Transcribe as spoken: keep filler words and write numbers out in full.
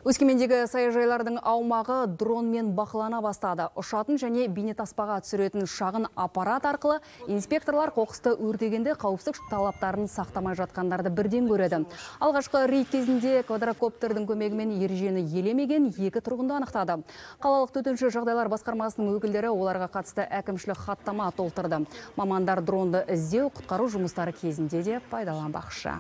Өскемендегі саяжайлардың аумағы дронмен бақылана бастады. Ұшатын және бейнетаспаға түсіретін шағын аппарат арқылы инспекторлар қоқысты өртегенде қауіпсіздік талаптарын сақтамай жатқандарды бірден көреді. Алғашқы рейд кезінде квадрокоптердің көмегімен ережені елемеген екі тұрғынды анықтады. Қалалық төтенше жағдайлар басқармасының өкілдері оларға қатысты әкімшілік хаттама толтырды. Мамандар дронды іздеу, құтқару жұмыстары кезінде де пайдаланбақшы.